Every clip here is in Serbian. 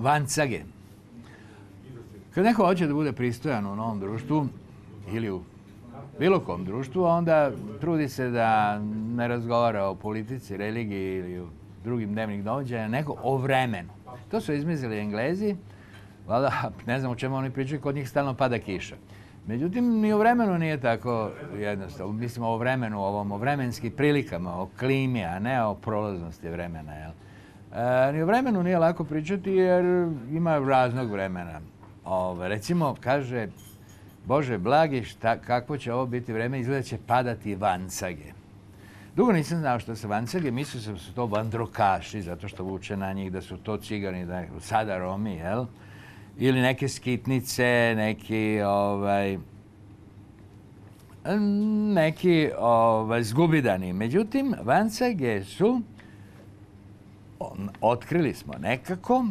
vancage. Kad neko hoće da bude pristojan u novom društvu ili u bilo kom društvu, onda trudi se da ne razgovara o politici, religiji ili o drugim dnevnih događaja, nego o vremenu. To su izmislili Englezi, valjda ne znam o čemu oni pričaju, kod njih stalno pada kiša. Međutim, ni o vremenu nije tako jednostavno. Mislim o vremenu, o vremenskim prilikama, o klimi, a ne o prolaznosti vremena. Jel? Ni o vremenu nije lako pričati jer ima raznog vremena. Recimo, kaže Bože blagi, kakvo će ovo biti vreme, izgleda će padati vancage. Dugo nisam znao što su vancage, mislio sam da su to vandrokaši, zato što vuče na njih da su to cigani, sada Romi, jel? Ili neke skitnice, neki zgubidani. Međutim, vancage su, otkrili smo nekako,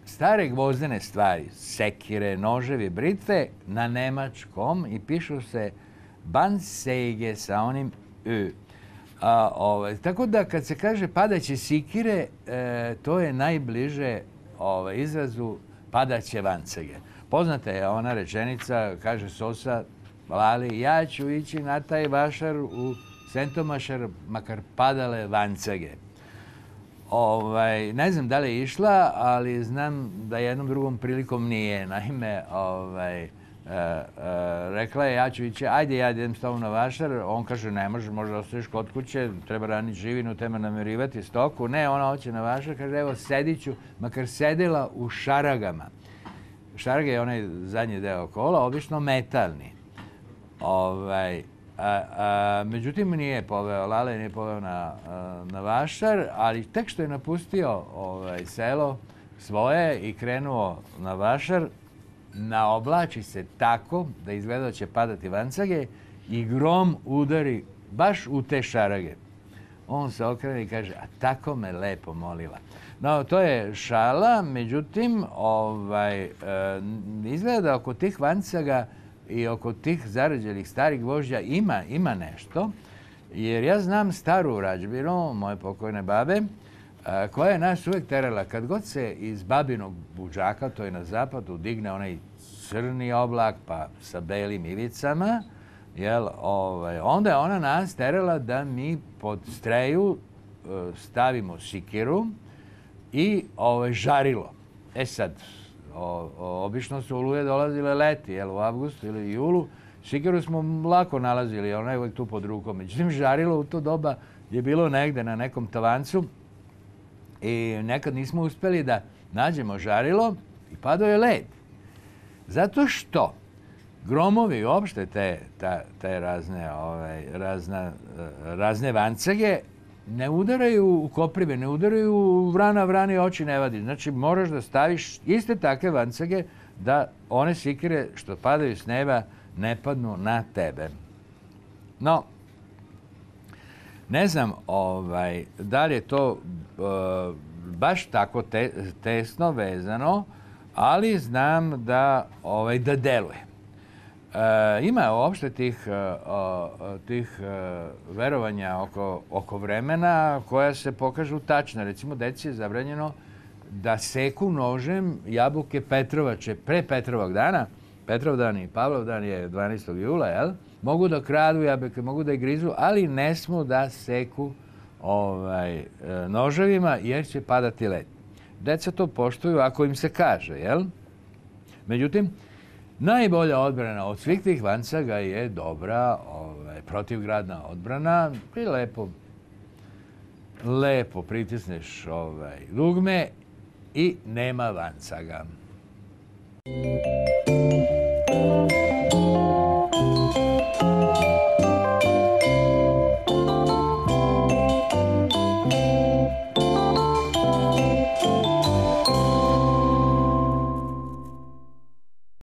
stare gvozdene stvari, sekire, noževi, britve na nemačkom i pišu se Bansäge sa onim Ö. Tako da kad se kaže padaće sikire, to je najbliže izrazu padaće vancage. Poznata je ona rečenica, kaže Sosa Lali, ja ću ići na taj vašar u Sentomašar, makar padale vancage. Ne znam da li je išla, ali znam da jednom drugom prilikom nije. Naime, rekla je ja ću ići, ajde ja idem s tobom na vašar. On kaže ne može, možda ostaješ kod kuće, treba raniti živinu, treba namirivati stoku. Ne, ona hoće na vašar, kaže evo sedit ću, makar sedela u šaragama. Šarage je onaj zadnji deo kola, obično metalni. Međutim, nije poveo, Lale nije poveo na vašar, ali tek što je napustio selo svoje i krenuo na vašar, naoblači se tako da izgleda da će padati vancage i grom udari baš u te šarage. On se okrene i kaže, a tako me lepo molila. No, to je šala, međutim, izgleda da oko tih vancaga i oko tih zarađenih starih gvožđa ima nešto, jer ja znam staru rađbinu, moje pokojne babe, koja je nas uvek terala. Kad god se iz babinog budžaka, to je na zapadu, digne onaj crni oblak, pa sa belim ivicama, onda je ona nas terala da mi pod streju stavimo sikiru i žarilo. Sad, obično su oluje dolazile leti, u avgustu ili julu. Sikiru smo lako nalazili, ona je uvijek tu pod rukom. Međutim, žarilo u to doba je bilo negde na nekom tavancu i nekad nismo uspeli da nađemo žarilo i padao je led. Zato što gromovi i uopšte te razne vancage ne udaraju u koprive, ne udaraju u vrani oči ne vadi. Znači, moraš da staviš iste takve vancage da one sikire što padaju s neba ne padnu na tebe. No, ne znam da li je to baš tako tesno vezano, ali znam da deluje. Ima uopšte tih verovanja oko vremena koja se pokažu tačna. Recimo, deci je zabranjeno da seku nožem jabuke Petrovače pre Petrovog dana. Petrov dan i Pavlov dan je 12. jula, jel? Mogu da kradu jabuke, mogu da ih grizu, ali ne smu da seku noževima jer će padati led. Deca to poštuju ako im se kaže, jel? Međutim, najbolja odbrana od svih tih vancaga je dobra protivgradna odbrana i lepo pritisneš dugme i nema vancaga.